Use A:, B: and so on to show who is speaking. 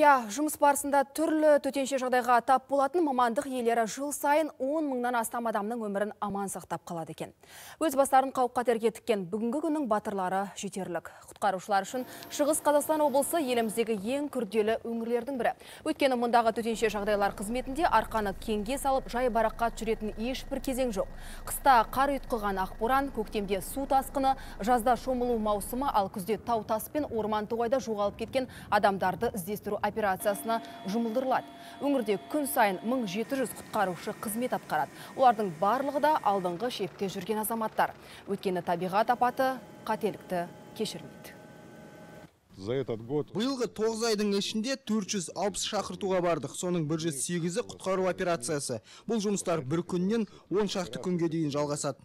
A: Я, жұмыс барысында түрлі төтенше жағдайға тап болатын мамандық иелері жыл сайын 10 мыңнан астам адамның өмірін аман сақтап қалады екен. Өз бастарын қауіп-қатерге тіккен бүгінгі күннің батырлары жетерлік. Құтқарушылар үшін Шығыс Қазақстан облысы еліміздегі ең күрделі өңірлердің бірі. Өйткені мұндағы төтенше жағдайлар қызметінде арқаны кеңге салып, жайбарақат жүретін ешбір кезең жоқ. Қыста қар ұйтқыған ақборан, көктемде су тасқыны, жазда шомылу маусымы, ал күзде тау тас пен орман тоғайда жоғалып кеткен адамдарды іздестіру операциясына жұмылдырылады. Өңірде күн сайын 1700 құтқарушы қызмет атқарады. Олардың барлығы да алдыңғы шепте жүрген азаматтар. Өйткені табиғат апаты қателікті кешірмейді.
B: Биылғы 9 айдың ішінде 460 шақыртуға бардық. Соның 108-і құтқару операциясы. Бұл жұмыстар бір күннен 10 шақты күнге дейін жалғасады.